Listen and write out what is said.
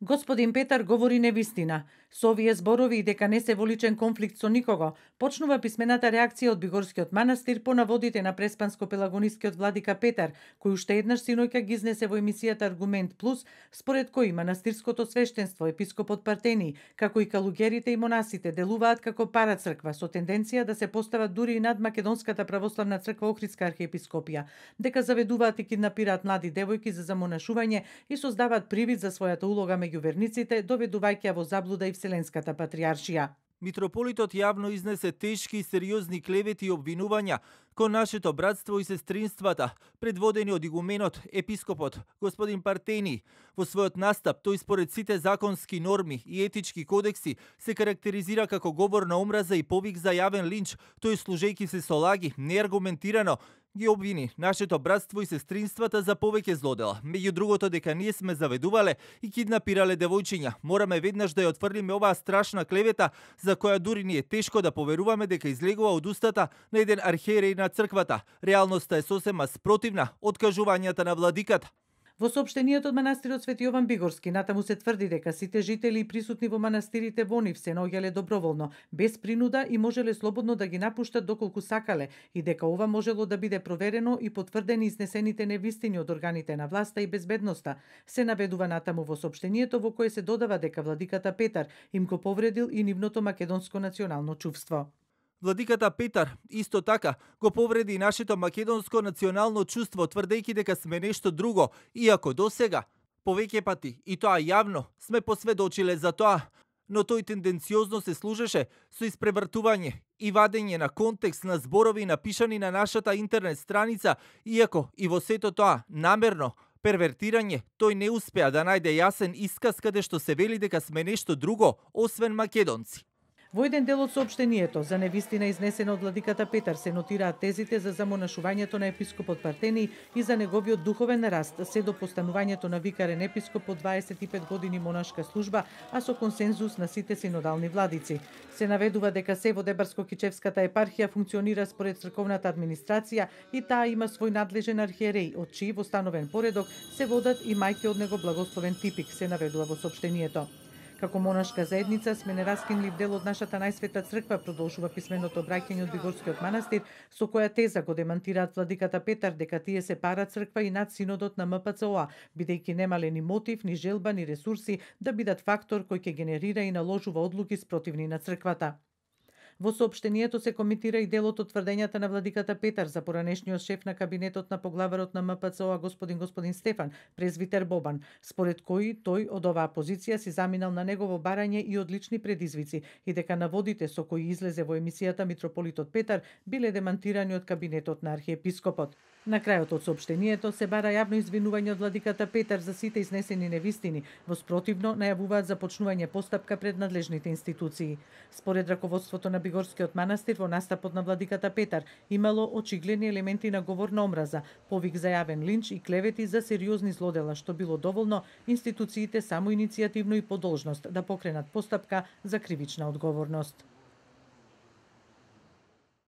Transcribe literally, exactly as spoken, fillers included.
Господин Петар говори невистина. Со овие зборови и дека не се во личен конфликт со никого, почнува писмената реакција од Бигорскиот манастир по наводите на преспанско-пелагонискиот владика Петар, кој уште еднаш синоќа ги изнесе во емисијата Аргумент Плюс, според кој манастирското свештенство, епископот Партени, како и калугерите и монасите делуваат како парацрква со тенденција да се постават дури и над Македонската православна црква Охридска архиепископија, дека заведуваат и киднапираат млади девојки за замонашување и создаваат привид за својата улога меѓу верниците, доведувајќи ја во заблуда и Вселенската патриаршија. Митрополитот јавно изнесе тешки и сериозни клевети и обвинувања кон нашето братство и сестринствата, предводени од игуменот, епископот, господин Партени. Во својот настап, тој според сите законски норми и етички кодекси се карактеризира како говор на омраза и повик за јавен линч, тој служејќи се со лаги, неаргументирано, ги обвини нашето братство и сестринствата за повеќе злодела. Меѓу другото дека ние сме заведувале и киднапирале девојчиња. Мораме веднаш да ја отфрлиме оваа страшна клевета, за која дури ни е тешко да поверуваме дека излегува од устата на еден архиереј на црквата. Реалноста е сосема спротивна од кажувањата на владиката. Во соопштенијето од манастирот Свети Јован Бигорски натаму се тврди дека сите жители и присутни во манастирите во нив се наоѓале доброволно, без принуда и можеле слободно да ги напуштат доколку сакале и дека ова можело да биде проверено и потврдени изнесените невистини од органите на власта и безбедноста. Се наведува натаму во соопштенијето во кое се додава дека владиката Петар им го повредил и нивното македонско национално чувство. Владиката Петар исто така го повреди и нашето македонско национално чувство, тврдејќи дека сме нешто друго, иако досега повеќе пати и тоа јавно сме посведочиле за тоа, но тој тенденциозно се служеше со испревртување и вадење на контекст на зборови напишани на нашата интернет страница, иако и во сето тоа намерно первертирање, тој не успеа да најде јасен исказ каде што се вели дека сме нешто друго, освен македонци. Во еден дел од соопштенијето за невистина изнесена од владиката Петар се нотираат тезите за замонашувањето на епископот Партени и за неговиот духовен раст, се до постанувањето на викарен епископ по дваесет и пет години монашка служба, а со консензус на сите синодални владици. Се наведува дека се во Дебарско-Кичевската епархија функционира според црковната администрација и таа има свој надлежен архиереј, од чии во становен поредок се водат и мајки од него благословен типик, се наведува во соопштенијето. Како монашка заедница сме нераскинлив дел од нашата најсвета црква, продолжува писменото обраќање од Бигорскиот манастир, со која теза го демантираат владиката Петар дека тие се пара црква и над синодот на М П Ц О А, бидејќи немале ни мотив, ни желба, ни ресурси да бидат фактор кој ќе генерира и наложува одлуки спротивни на црквата. Во соопштенијето се коментира и делот од тврдењата на владиката Петар за поранешниот шеф на кабинетот на поглаварот на М П Ц О А господин господин Стефан, презвитер Бобан, според кој тој од оваа позиција си заминал на негово барање и од лични предизвици и дека наводите со кои излезе во емисијата Митрополитот Петар биле демантирани од кабинетот на архиепископот. На крајот од соопштенијето се бара јавно извинување од владиката Петар за сите изнесени невистини, во спротивно најавуваат започнување постапка пред надлежните институции. Според раководството на Бигорскиот манастир во настапот на владиката Петар имало очигледни елементи на говор на омраза, повик за јавен линч и клевети за сериозни злодела, што било доволно институциите само иницијативно и по должност да покренат постапка за кривична одговорност.